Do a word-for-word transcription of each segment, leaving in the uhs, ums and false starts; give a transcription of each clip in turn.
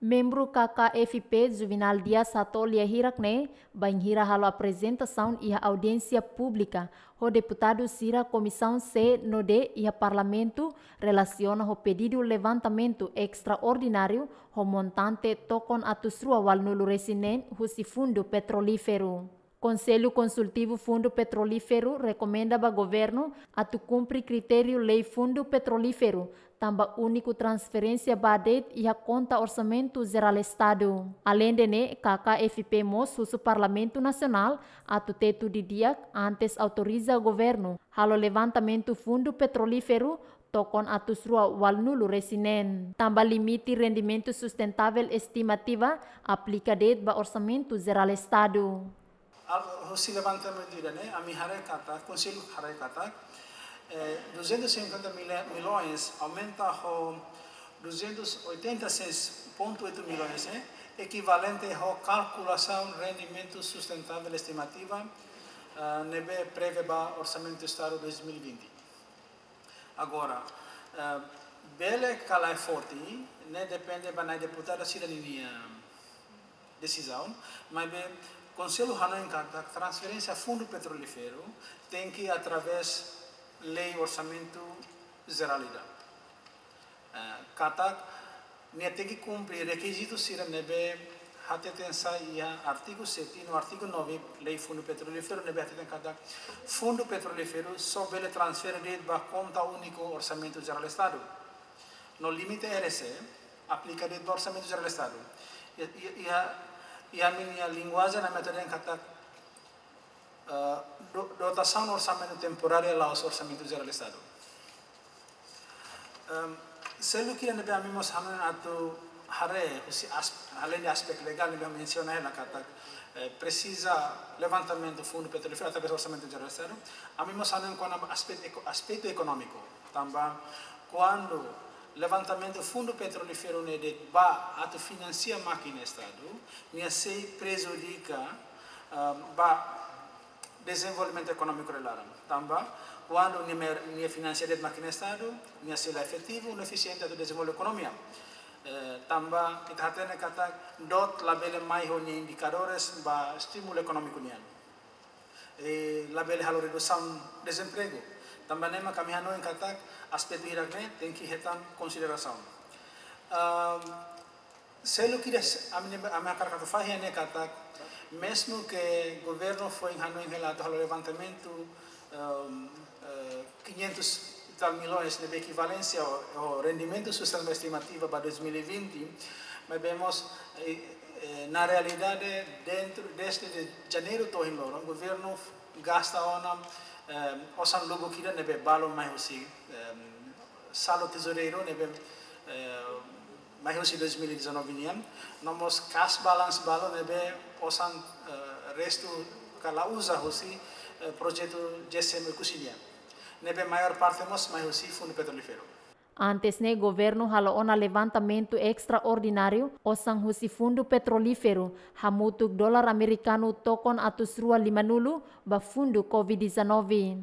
Membru K K F P Juvenal Dias hato'o lia hirak ne'e, bainhira halo aprezentasaun iha audiénsia públika ho deputadu sira Komisaun C no D iha Parlamentu, relasiona ho pedidu levantamentu estraordináriu ho montante tokon atus rua ualunulu resin neen husi Fundu Petrolíferu. Konsellu Konsultivu Fundu Petrolíferu rekomenda ba governu atu kumpre kritériu Lei Fundu Petrolíferu, tanba úniku transferénsia ba de'it iha konta Orsamentu Jerál Estadu. Aleinde ne'e, K K F P mós husu Parlamentu Nasionál atu tetu didi'ak antes autoriza governu halo levantamentu Fundu Petrolíferu tokon atus rua ualunulu resin neen, tanba limite rendimentu sustentável estimativa aplika de'it ba Orsamentu Jerál Estadu. Al-, husi levantamentu ida-ne'e, ami haree katak, Konsellu haree katak, eh, duzentos e cinquenta mil, milhões aumenta ho duzentos e oitenta e seis ponto oito milhões, eh, ekivalente ho kalkulasaun rendimentu sustentável estimativa, ah, ne'ebé prevee ba Orsamentu Estadu dois mil e vinte. Agora, eh, bele ka lae forte, ne'e depende ba nai deputadu sira-ninia desizaun, maibé Konsellu hanoin katak transferénsia Fundu Petrolíferu tenke através Lei Orsamentu Jerál ida. Eh, katak nia tenke kumpre rekizitu sira ne'ebé hateten sai iha artigu sete no artigu nove Lei Fundu Petrolíferu, ne'ebé hateten katak Fundu Petrolíferu só bele transfere de'it ba konta úniku Orsamentu Jerál Estadu. No limite R S E aplika de'it ba Orsamentu Jerál Estadu. Iha, iha, iha ami-nia linguajen ami hateten katak, eh, do-, dotasaun orsamentu temporária la'ós Orsamentu Jerál Estadu. Em, seluk ida ne'ebé ami mós hanoin atu haree husi as-, aleinde aspetu legál ne'ebé mensiona hela katak, eh, presiza levantamentu Fundu Petrolíferu através Orsamentu Jerál Estadu, ami mós hanoin kona-ba aspetu eko-, aspetu ekonómiku. Tanba kuandu levantamentu Fundu Petrolíferu ne'e de'it ba atu finansia mákina Estadu, nia sei prejudika, ah, ba dezenvolvimentu ekonómiku nia laran. Tanba kuandu nia mer-, nia finansia de'it mákina Estadu, nia sei la efetivu no efisiente atu dezenvolve ekonomia. Eh, tanba ita hatene katak doot labele mai ho nia indikadores ba estimulu ekonómiku nian. Eh, labele halo redusaun dezempregu. Tanba ne'e mak ami hanoin katak aspetu hirak-ne'e tenke hetan konsiderasaun. Am, seluk ida s-, ami ne'e, ami hakarak atu fahe ne'e katak, mezmu ke governu foin hanoin hela atu halo levantamentu, em, eh, quinhentos e tal milhões ne'ebé ekivalénsia ho, ho rendimentu sustentável estimativa ba dois mil e vinte, maibé mós, eh, eh, na realidade, dentru, desde de janeiru to'o ohin loron, governu gasta ona, eh, osan lubuk ida ne'ebé balu mai husi, eh, saldo tezoureiru ne'ebé, eh, mai husi dois mil e dezanove nian, no mós cash balance balu ne'ebé osan, eh, restu ka la uza husi, eh, projetu G S M Oekusi nian. Ne'ebé maiór parte mós mai husi Fundu Petrolíferu. Antes ne'e governu halo ona levantamentu estraordináriu osan husi Fundu Petrolíferu hamutuk dolar amerikanu tokon atus rua limanulu ba fundu covid dezanove.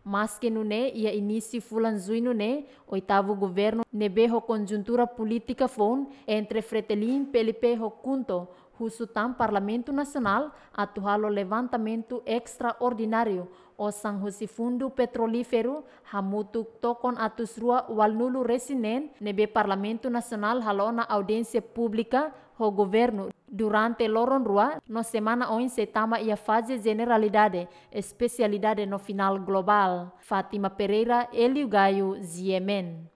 Maske nune'e, iha inísiu fulan Juñu ne'e, oitavu governu ne'ebé ho konjuntura polítika foun entre Fretilin, P L P ho KHUNTO husu tan Parlamentu Nasionál atu halo levantamentu estraordináriu osan husi Fundu Petrolíferu hamutuk tokon atus rua ualunulu resin neen ne'ebé Parlamentu Nasionál halo ona audiénsia públika ho governu durante loron rua no semana oin sei tama iha faze jeneralidade, espesialidade no finál globál. Fátima Pereira, Hélio Gaio, G M N.